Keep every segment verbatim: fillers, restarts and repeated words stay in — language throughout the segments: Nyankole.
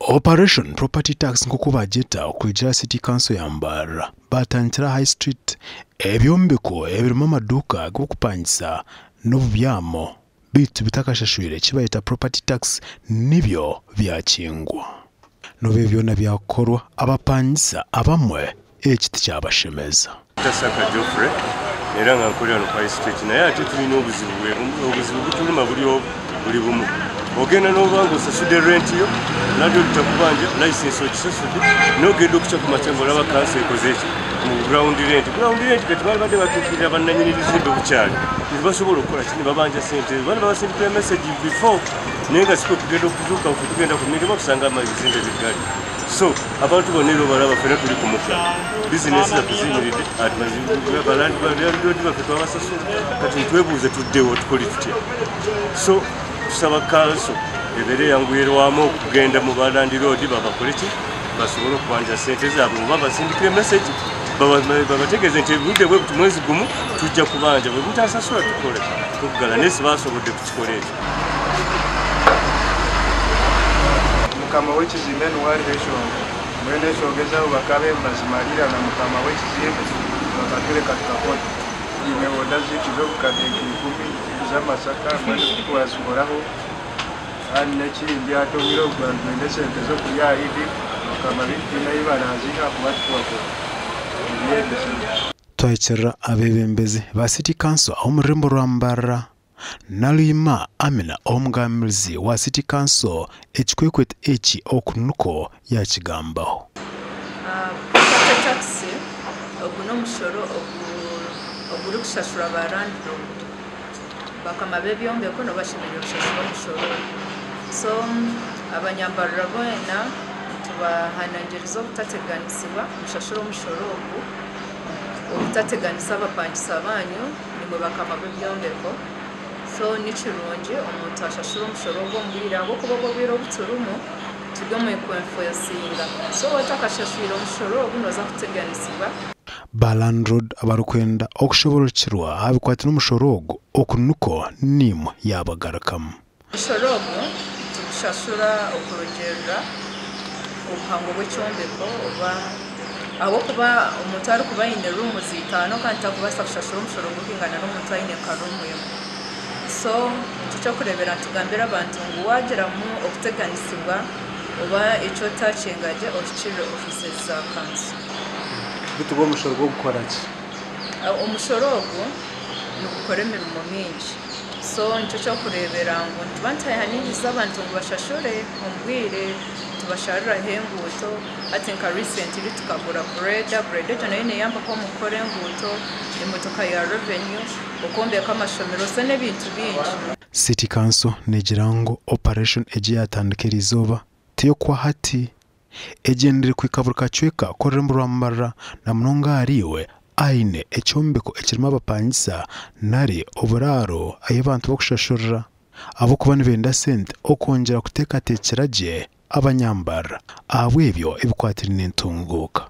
Operation Property Tax nk'oku bagyeta okwigira City Council ya Mbarara batandikira High Street ebyombeko ebirimu amaduuka g'okupangisa n'obubyamo bitu bitakashashwire kibayeta property tax nibyo byakingwa. Nobe byona byakorwa abapangisa abamwe eki tikyabashemeza. Tasaka Geoffrey era nga nkolera no High Street naye ate tulina obuzibu obuzibu butuluma buli buli bumu. Ogenda n'obanga osasudde rent yo landlord takubanja license ogisasudde n'ogenda okukya ku makya ng'olaba kanso ekoze eki mu ground rent. Ground rent kati baali badde batuukirira bannannyini bizimbe bukyali tebasobola okukola ki ne babanja ssente bano babasindikira message before naye nga sikwe kugenda okuzuuka ffe tugenda ku mirimu okusanga ebizimbe biggale. So abantu bonna era obalaba ffenna tuli ku muggalo, bizinesi zaffe ziyimiridde, balandlord baffe twabasasula kati ntwebuuze tuddewo tukole tutya. So tusaba kanso ebeere eyanguyirwamu okugenda mu balandiroodi babakole ki basobole okubanja ssente zaabwe oba basindikire message babategeeze nti obudde bwe buti mwezi gumu tujja kubanja bwe mutasasula tukole tuggala naye sibasobodde kukikola ekyo. Mukama w'ekizimbe niwariho eshonga mbwenu eshonga ezaabo bakabe bazimarira na mukama w'ekizimbe bakatureka tukakora. Ine oda zaitu z'obukadde ikumi z'amasaka mbwenu twazikoraho kandi n'ekindi ate obwire obu twenda esente z'okurya ahidi bakama baitu twine ahi baraziha kuba tukubakora. Twahikirira abeebembezi ba City Council omu rurembo rwa Mbarara Nalima Amina omugambirizi wa City Council ekikwekwete eki oku niko yakigambaho. Property tax ogu n'omushoro ogurikushashura ba landlord bakama b'ebyombeko nibo bashemereire kushashura omushoro. So abanyambarara boona tubahanangiriza obutateganisibwa mushashure omushoro ogu obutateganisa abapangisa banyu nimwe bakama b'ebyombeko. So ni kirungi omuntu ashashura omushoro ogwo omu bwire ahabw'okuba obwo obwire obu turimu turi omu kwenfosinga. So otakashashwire omushoro ogu nooza kuteganisibwa. Ba landlord abarikwenda okushoborokirwa aha bikwatire n'omushoro ogu oku niko nimwe yabagarukamu. Omushoro ogu tugushashura okurugiirira obuhango bw'ekyombeko oba ahabw'okuba omuntu arikuba aine rooms itaano kandi takubaasa kushashura omushoro gurikwingana n'omuntu aine nka room emwe. So nikyo ky'okureebera nitugambira abantu ngu waagiramu okuteganisibwa oba eki otakyengagye ohikirire offices za kanso. Bitu omushoro gw'okukora ki? Omushoro ogu nigukora emirimo mingi. So nikyo ky'okureebera ngu nituba nituhahaniriza abantu ngu bashashure omu bwire tubashariraho enguuto hati nka recently tukagura grader, grader egyo nayo neeyambako omu kukora enguuto, emotoka ya revenue, okwombeka amashomero so n'ebintu bingi. City Council negira ngu operation egi yatandika erizooba tiyokuha hati egyendere kuhika buri kacweka k'orurembo rwa Mbarara na munonga ahariiwe aine ekyombeko ekirimu abapangisa nari oburaaro ahu abantu bakushashurira ahabw'okuba nibenda sente okwongyera kuteekateekyera gye abanyambarara ahabw'ebyo ebikwatiraine n'entunguuka.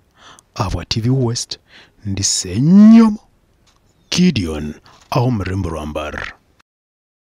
Ahabwa T V West ndi Ssenyomo Gideon aho omu rurembo rwa Mbarara.